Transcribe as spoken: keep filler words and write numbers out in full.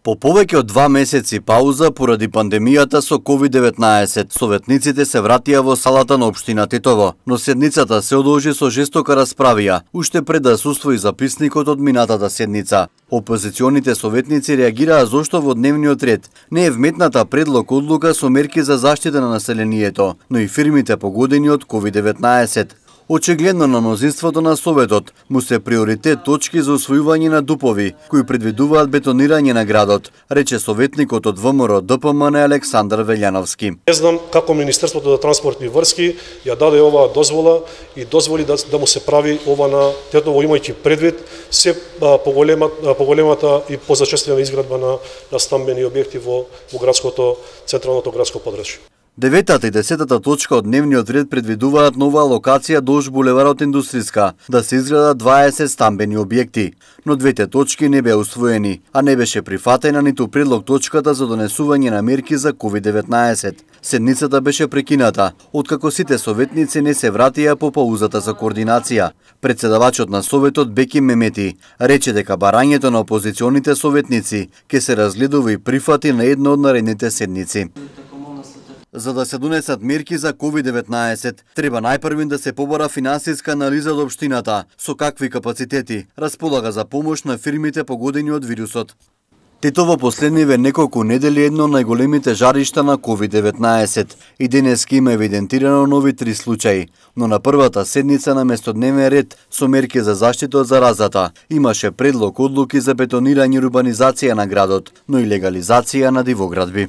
По повеќе од два месеци пауза поради пандемијата со ковид деветнаесет, советниците се вратија во салата на општина Тетово, но седницата се одложи со жестока расправија, уште пред да се усвои записникот од минатата седница. Опозиционите советници реагираа зошто во дневниот ред не е вметната предлог одлука со мерки за заштита на населението, но и фирмите погодени од ковид деветнаесет. Очигледно на мнозинството на Советот му се приоритет точки за усвојување на дупови, кои предвидуваат бетонирање на градот, рече советникот од ВМРО Д П М Н Александар Велјановски. Не знам како Министерството за транспортни врски ја даде оваа дозвола и дозволи да, да му се прави ова на Тетово, имајќи предвид се поголемата, поголемата и позачестена изградба на, на стамбени објекти во, во градското, централното градско подрачје. Деветата и десетата точка од дневниот ред предвидуваат нова локација долж булеварот Индустријска, да се изградат дваесет стамбени објекти, но двете точки не беа усвоени, а не беше прифатена ниту предлог точката за донесување на мерки за ковид деветнаесет. Седницата беше прекината, откако сите советници не се вратија по паузата за координација. Председавачот на Советот Беки Мемети рече дека барањето на опозиционите советници ќе се разгледува и прифати на една од наредните седници. За да се донесат мерки за ковид деветнаесет, треба најпрвин да се побара финансиска анализа од општината, со какви капацитети располага за помош на фирмите погодени од вирусот. Тетово последниве неколку недели едно од најголемите жаришта на ковид деветнаесет и денеска има евидентирано нови три случаи, но на првата седница на место дневен ред со мерки за заштита од заразата имаше предлог одлуки за бетонирање и урбанизација на градот, но и легализација на дивоградби.